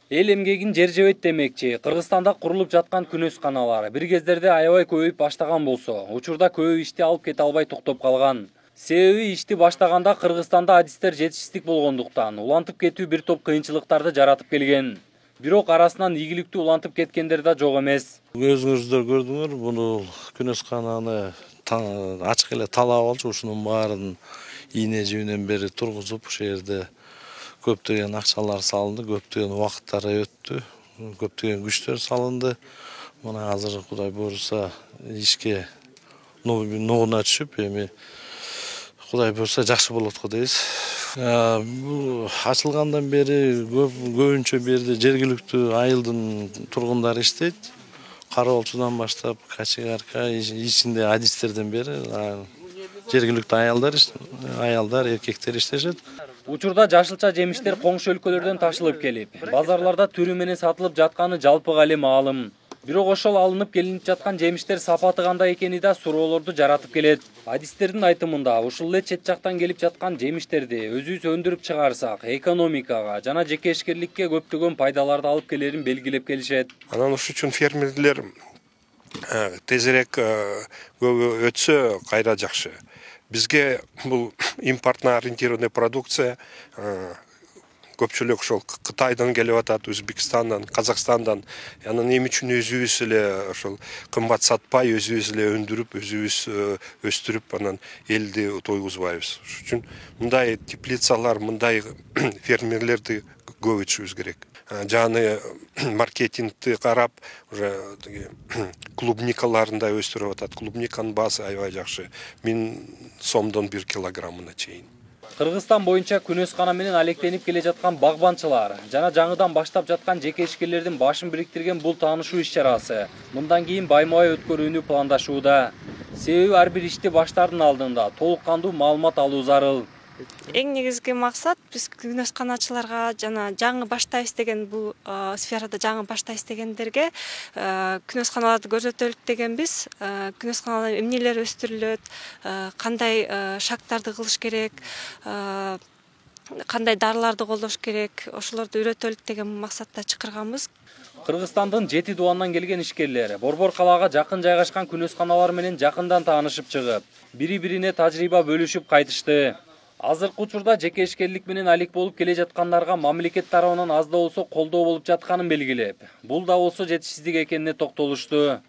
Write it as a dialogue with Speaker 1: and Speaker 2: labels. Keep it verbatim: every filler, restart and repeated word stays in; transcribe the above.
Speaker 1: Эл эмгегин жер жебейт демекчи. Кыргызстанда курулуп жаткан күнөсканалар бир кездерде аябай көбөйүп баштаган болсо, учурда көп ишти алып кете албай токтоп калган. Себеби ишти баштаганда Кыргызстанда адистер жетишсиздик болгондуктан улантып кетүү бир топ кыйынчылыктарды жаратып келген. Бирок арасынан ийгиликтүү улантып кеткендер да жок эмес.
Speaker 2: Өзүңүздөр көрдүңөр, буну күнөскананы ачык эле талап алчу, ушунун баарын ийне жибинен бери тургузуп, ушул жерде көптөгөн акчалар салынды, көптөгөн убакыттар өттү, көптөгөн күчтөр салынды. Мына азыр Кудай буйруса ишке нугуна түшүп, эми Кудай буйруса жакшы болот го дейбиз. Бул ачылгандан бери көбүнчө бу жерде жергиликтүү айылдын тургундары иштейт. Кароолчудан баштап качыгарка ичинде адистерден бери жергиликтүү аялдар, аялдар, эркектер иштешет.
Speaker 1: Учурда жашылча жемиштер коңшу өлкөлөрдөн ташылып келип, базарларда түрү менен сатылып жатканы жалпыга эле маалым. Бирок ошол алынып келинип жаткан жемиштер сапаты кандай экени да суроолорду жаратып келет. Адистердин айтымында, ушул эле чет жактан келип жаткан жемиштерди өзүбүз өндүрүп чыгарсак, экономикага жана жекешкерликке көптөгөн пайдаларды алып келерин белгилеп келишет.
Speaker 3: Анан ушул үчүн фермерлер тезирээк өтсө кайра жакшы. Бизге бул импортно ориентированный продукция көпчүлүк ошол Кытайдан келип атат, Өзбекстандан, Казакстандан. Анан эмне үчүн өзүбүз эле ошол кымбат сатпай, өзүбүз эле өндүрүп, өзүбүз өстүрүп, анан элди тойгузбайбыз. Ошон үчүн мындай теплицалар, мындай фермерлерди көбөйтүшүбүз керек. Жаны маркетингти карап, уже клубникаларында өстүрүп атат. Клубниканын баасы аябай жакшы. миң сомдон бир килограммына чейин.
Speaker 1: Кыргызстан боюнча күнөскана менен алектенип келе жаткан багбанчылар жана жаңыдан баштап жаткан жеке ишкерлердин башын бириктирген бул таанышуу иш-чарасы мындан кийин байма-бай өткөрүүнү пландашууда. Себеби ар бир ишти баштаардын алдында толук кандуу маалымат алуу зарыл.
Speaker 4: Эң негизги максат биз күнөсканачыларга жана жаңы баштайбыз деген бул сферада жаңы баштайбыз дегендерге күнөсканаларды көрсөтөлүк дегенбиз. Күнөсканалар эмнелер өстүрүлөт, кандай шагтарды кылыш керек, кандай дарыларды колдош керек, ошолорду үйрөтөлүк деген максатта чакырганбыз.
Speaker 1: Кыргызстандын жети дубандан келген ишкерлер Борбор калаага жакын жайгашкан күнөсканалар менен жакындан таанышып чыгып, бири-бирине тажрыйба бөлүшүп кайтышты. Азыркы учурда жеке ишкерлик менен алек болуп келе жаткандарга мамлекет тарабынан аз да болсо колдоо болуп жатканын белгилеп, бул да болсо жетишсиздик экенине токтолушту.